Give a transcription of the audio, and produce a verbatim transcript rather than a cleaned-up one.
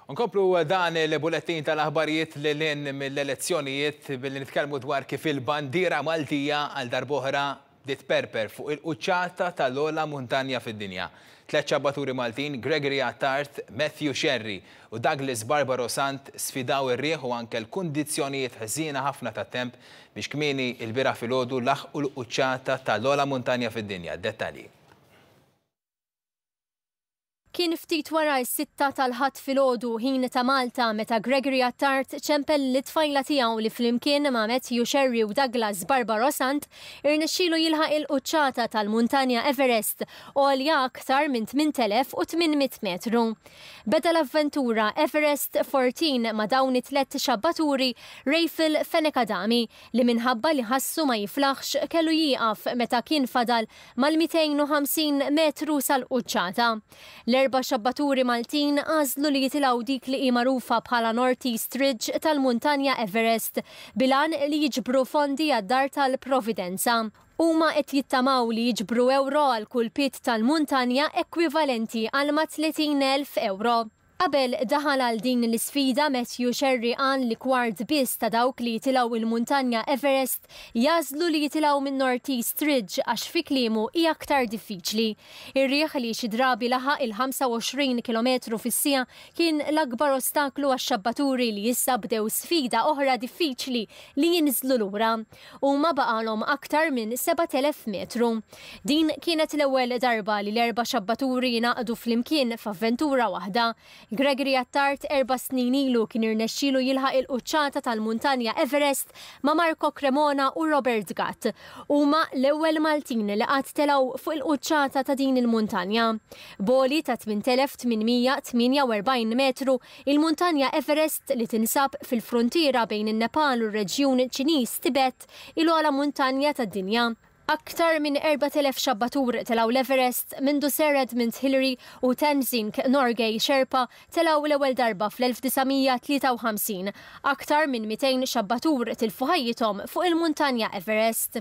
Nkomplu dan il-bulettin tal-aħbarijiet lil hinn mill-elezzjonijiet billi nitkellmu dwar kif il-bandiera Maltija għal darb'oħra bdiet tperper fuq il-quċċata tal-ogħla muntanja fid-dinja. Tliet xabbaturi Maltin, Gregory Attard, Matthew Scerri u Douglas Barbaro Sant, sfidaw ir-riħ u anke l-kundizzjonijiet ħżiena ħafna tat-temp biex kmieni il-bieraħ filgħodu laħqu l-quċċata tal-ogħla muntanja fid-dinja. Dettalji. Kien ftit wara s-sitta tal-Ħadd filgħodu, ħin ta' Malta, meta Gregory Attard ċempel lit-tfajla tiegħu li flimkien ma' Matthew Scerri u Douglas Barbaro Sant irnexxielu jilħaq il-quċċata tal-muntanja Everest, għolja aktar minn tmint elef u tmien mitt metru. Beda l-avventura Everest erbatax ma' dawn it-tlet xabbaturi Rafel Fenech Adami, li minħabba li ħassu ma jiflaħx kellu jieqaf meta kien fadal mal-mitejn u ħamsin metru sal-quċċata. L-erba' xabbaturi Maltin għażlu li jitilgħu dik li hi magħrufa bħala North East Ridge tal-muntanja Everest bil-għan li jiġbru fondi għad-Dar tal-Providenza. Huma qed jittamaw li jiġbru euro għal kull pied tal-muntanja, ekwivalenti għal ma' tletin elf euro. Qabel daħal għal din l-isfida, Matthew Scerri qal li kwart biss ta' dawk li jitilgħu il-muntanja Everest jagħżlu li jitilgħu minn North East Ridge għax, fi kliemu, hija aktar diffiċli. Ir-riħ, li xi drabi laħaq il-ħamsa u għoxrin kilometru fis-siegħa, kien l-akbar ostaklu għax-xabbaturi li issa bdew sfida oħra diffiċli li jinżlu lura. Huma baqalhom aktar minn sebat elef metru. Din kienet l-ewwel darba li l-erba' xabbaturi jingħaqdu flimkien f'avventura waħda. Gregory Attard erba' snin ilu kien irnexxielu jilħaq il-quċċata tal-muntanja Everest ma' Marco Cremona u Robert Gatt. Huma l-ewwel Maltin li qatt telgħu fuq il-quċċata ta' din il-muntanja. B'għoli ta' tmint elef tmien mija tmienja u erbgħin metru, il-muntanja Everest, li tinsab fil-frontiera bejn in-Nepal u r-reġjun Ċiniż Tibet, l-ogħla muntanja tad-dinja. Aktar minn erbat elef xabbatur telgħu l-Everest mindu Sir Edmund Hillary u Tenzing Norgay Sherpa telgħu l-ewwel darba fl-elf disa' mija tlieta u ħamsin. Aktar minn mitejn xabbatur tilfu ħajjithom fuq il-muntanja Everest.